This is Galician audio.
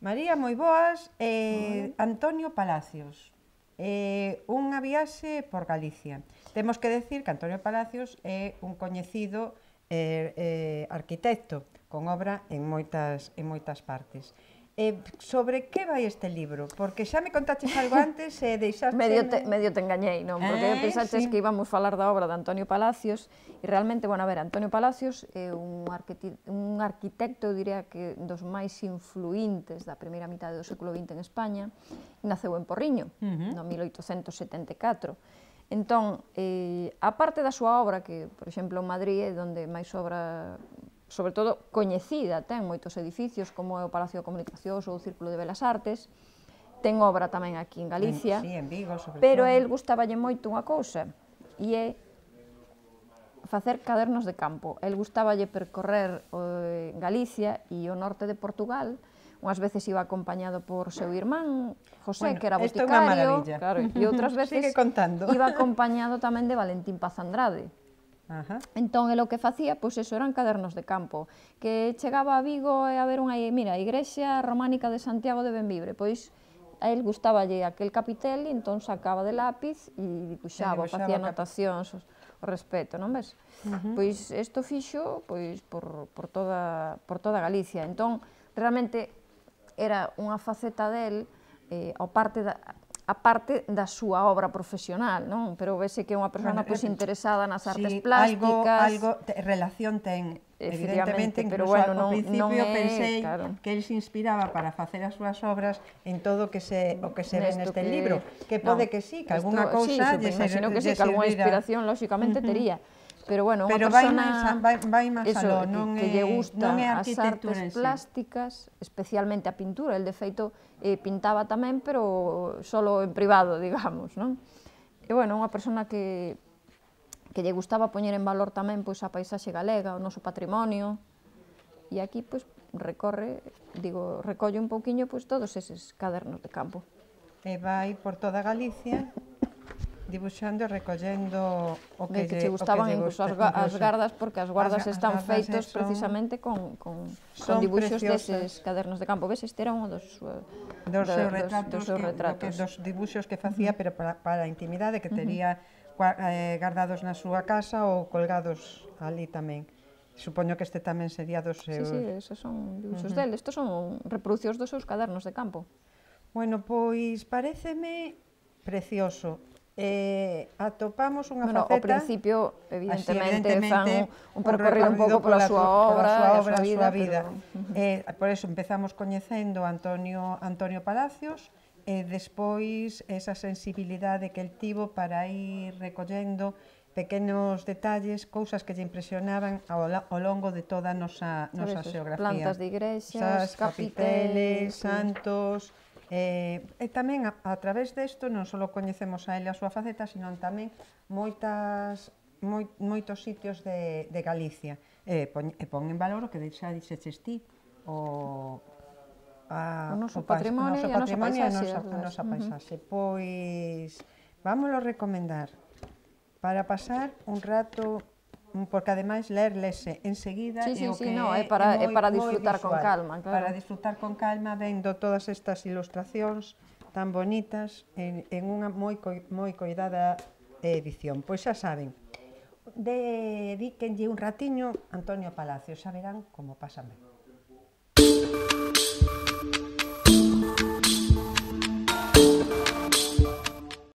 María, moi boas. Antonio Palacios. Unha viaxe por Galicia. Temos que decir que Antonio Palacios é un coñecido arquitecto con obra en moitas partes. Sobre que vai este libro? Porque xa me contaches algo antes e deixaste... Medio te engañei, non? Porque pensaches que íbamos falar da obra de Antonio Palacios e realmente, bueno, a ver, Antonio Palacios é un arquitecto, diría que dos máis influíntes da primeira mitade do século XX en España. Naceu en Porriño, no 1874. Entón, a parte da súa obra, que, por exemplo, en Madrid é onde máis obra, sobre todo coñecida, ten moitos edificios, como é o Palacio de Comunicacións ou o Círculo de Belas Artes, ten obra tamén aquí en Galicia, sí, en Vigo, sobre pero todo. a él gustáballe moito unha cousa, e é facer cadernos de campo. El gustáballe percorrer Galicia e o norte de Portugal. Unhas veces iba acompañado por seu irmán, José, que era boticario, claro, e outras veces iba acompañado tamén de Valentín Paz Andrade. Entón, o que facía, pois eso, eran cadernos de campo, que chegaba a Vigo e a ver unha, mira, a igrexa románica de Santiago de Bembibre, pois a él gustáballe aquel capitel e entón sacaba de lápiz e dibuixaba, facía anotacións ao respecto, non ves? Pois isto fixo por toda Galicia, entón realmente era unha faceta del a parte da súa obra profesional, non? Pero vese que é unha persona interesada nas artes plásticas. Algo relación ten, evidentemente, incluso ao principio pensei que el se inspiraba para facer as súas obras en todo o que se ve neste libro, que pode que sí, que algunha cousa lle servira. Imagino que sí, que algunha inspiración, lóxicamente, tería. Pero, bueno, unha persona que lle gusta as artes plásticas, especialmente a pintura. El, de feito, pintaba tamén, pero solo en privado, digamos, non? E, bueno, unha persona que lle gustaba poñer en valor tamén a paisaxe galega, o noso patrimonio, e aquí, pois, recolle un pouquiño todos eses cadernos de campo. E vai por toda Galicia dibuixando e recollendo o que che gustaban incluso as gardas, porque as guardas están feitos precisamente con dibuixos deses cadernos de campo. Ves, este era un dos seus retratos, dos dibuixos que facía, pero para a intimidade, que tería guardados na súa casa ou colgados ali tamén. Supoño que este tamén sería dos seus... Sí, esos son dibuixos del. Estos son reproduccións dos seus cadernos de campo. Bueno, pois paréceme precioso. Atopamos unha faceta... Ao principio, evidentemente, fan un percorrido un pouco pola súa obra, a súa vida. Por eso empezamos coñecendo Antonio Palacios, e despois esa sensibilidade que el tivo para ir recollendo pequenos detalles, cousas que lle impresionaban ao longo de toda a nosa xeografía. Plantas de igrexas, capiteles, santos... E tamén, a través desto, non só coñecemos a ele a súa faceta, sino tamén moitos sitios de Galicia. E pon en valor o que xa dixeches ti, o noso patrimonio e a nosa paisaxe. Pois, vámoslo recomendar para pasar un rato, porque ademais lese enseguida é para disfrutar con calma. Para disfrutar con calma, vendo todas estas ilustracións tan bonitas en unha moi coidada edición. Pois xa saben, dedíquenlle un ratiño Antonio Palacios, xa verán como pasan ben.